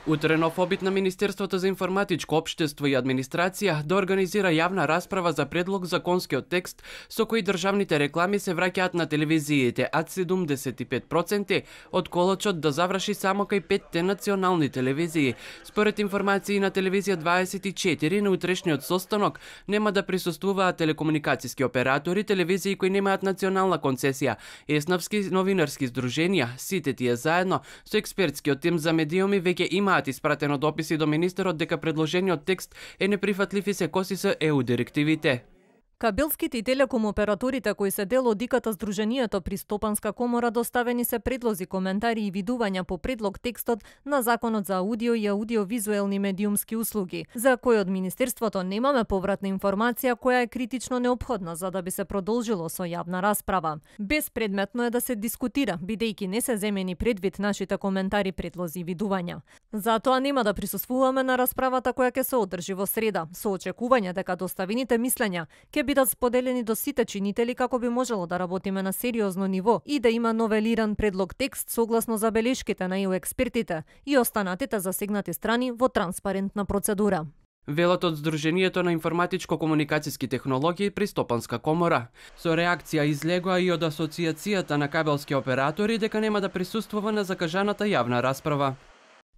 Утре нов обид на Министерството за информатичко општество и администрација да организира јавна расправа за предлог законскиот текст со кој државните реклами се враќаат на телевизиите, а 75% од колочот да заврши само кај 5 национални телевизии. Според информации на телевизија 24 на утрешниот состанок нема да присуствуваат телекомуникациски оператори, телевизии кои немаат национална концесија, еснавски новинарски здруженија, сите тие заедно со експертскиот тим за медиуми веќе имаат испратено дописи до министерот дека предложениот текст е неприфатлив и се коси со ЕУ директивите. Кабелските и телеком операторите кои се дел од ИКТ здруженијето при Стопанска комора доставени се предлози, коментари и видувања по предлог текстот на Законот за аудио и аудиовизуелни медиумски услуги, за кој од Министерството немаме повратна информација која е критично неопходна за да би се продолжило со јавна расправа. Безпредметно е да се дискутира, бидејќи не се земени предвид нашите коментари, предлози и видувања. Затоа нема да присуствуваме на расправата која ќе се одржи во среда, со очекување дека доставените мислења ќе бидат споделени до сите чинители како би можело да работиме на сериозно ниво и да има новелиран предлог текст согласно забелешките на ЕУ експертите и останатите засегнати страни во транспарентна процедура. Велат од Здруженијето на информатичко-комуникациски технологии при Стопанска комора. Со реакција излегоа и од Асоциацијата на кабелски оператори дека нема да присуствува на закажаната јавна расправа.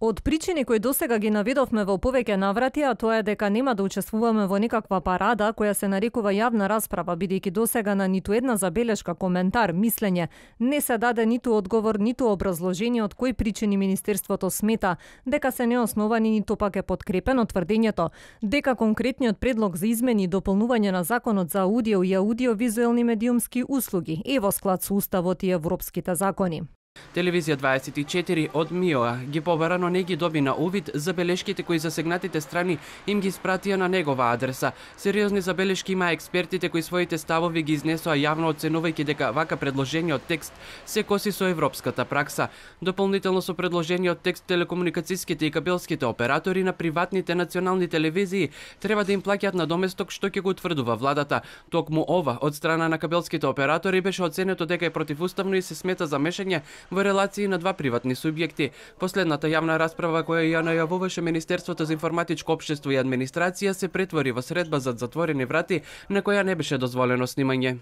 Од причини кои досега ги наведовме во повеќе наврати, а тоа е дека нема да учествуваме во никаква парада која се нарекува јавна расправа, бидејќи досега на ниту една забелешка, коментар, мислење не се даде ниту одговор, ниту образложение од кои причини Министерството смета дека се неосновани, ниту пак е подкрепено тврдењето дека конкретниот предлог за измени и дополнување на Законот за аудио и аудиовизуелни медиумски услуги е во склад со Уставот и европските закони. Телевизија 24 од МИОА ги побара, но не ги доби на увид забелешките кои засегнатите страни им ги спратија на негова адреса. Сериозни забелешки има експертите кои своите ставови ги изнесоа јавно, оценувајќи дека вака предложениот текст се коси со европската пракса. Дополнително со предложениот текст телекомуникацијските и кабелските оператори на приватните национални телевизии треба да им плаќаат надоместок што ќе го утврдува владата. Токму ова од страна на кабелските оператори беше оценето дека е противуставно и се смета за мешање во релации на два приватни субјекти. Последната јавна расправа која ја најавуваше Министерството за информатичко општество и администрација се претвори во средба зад затворени врати на која не беше дозволено снимање.